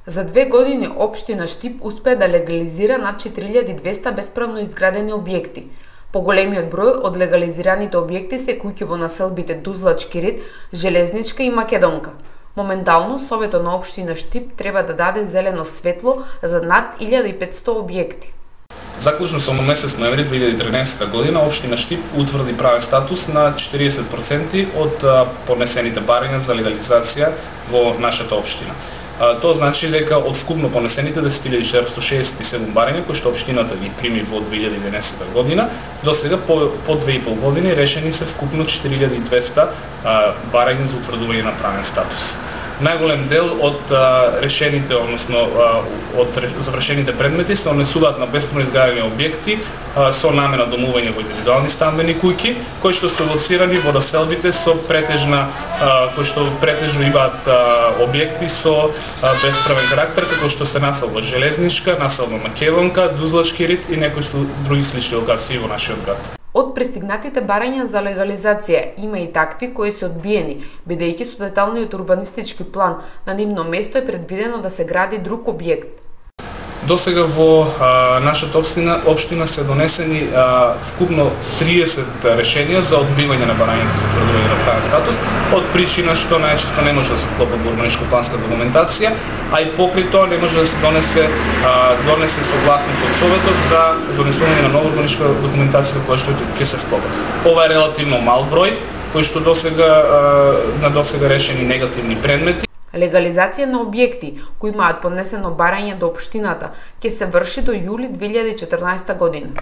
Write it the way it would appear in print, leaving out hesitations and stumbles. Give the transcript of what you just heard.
За 2 години општина Штип успеа да легализира над 4200 бесправно изградени објекти. Поголемиот број од легализираните објекти се куќи во населбите Дузлачки рид, Железничка и Македонка. Моментално, Советот на општина Штип треба да даде зелено светло за над 1500 објекти. Заклучно со месец ноември 2013 година, општина Штип утврди правен статус на 40% од поднесените барања за легализација во нашата општина. Тоа значи дека од вкупно понесените 10.467 барања кои што општината ги прими во 2011 година, до сега по 2,5 години решени се вкупно 4200 барања за утврдување на правен статус. Најголем дел од решените, односно од завршените предмети се однесуваат на бесправно изградени објекти со намена домување во индивидуални стамбени куќи, кои што се лоцирани во населбите со кои што претежно имаат објекти со бесправен карактер, како што се населба Железничка, населба Македонка, Дузлачки рид и некои други слични локации во нашиот град. Од пристигнатите барања за легализација има и такви кои се одбиени, бидејќи со деталниот урбанистички план на нивно место е предвидено да се гради друг објект. До сега во нашата општина се донесени вкупно 30 решенија за одбивање на барањата за утврдување на правен статус, од причина што најчесто не може да се вклопа во урбаничко-планска документација, а и покрај тоа не може да се донесе согласност од Советот за донесување на нова урбаничка документација која што ќе се вклопа. Ова е релативно мал број кои што на досега решени негативни предмети. Легализација на објекти кои имаат поднесено барање до општината ќе се врши до јули 2014 година.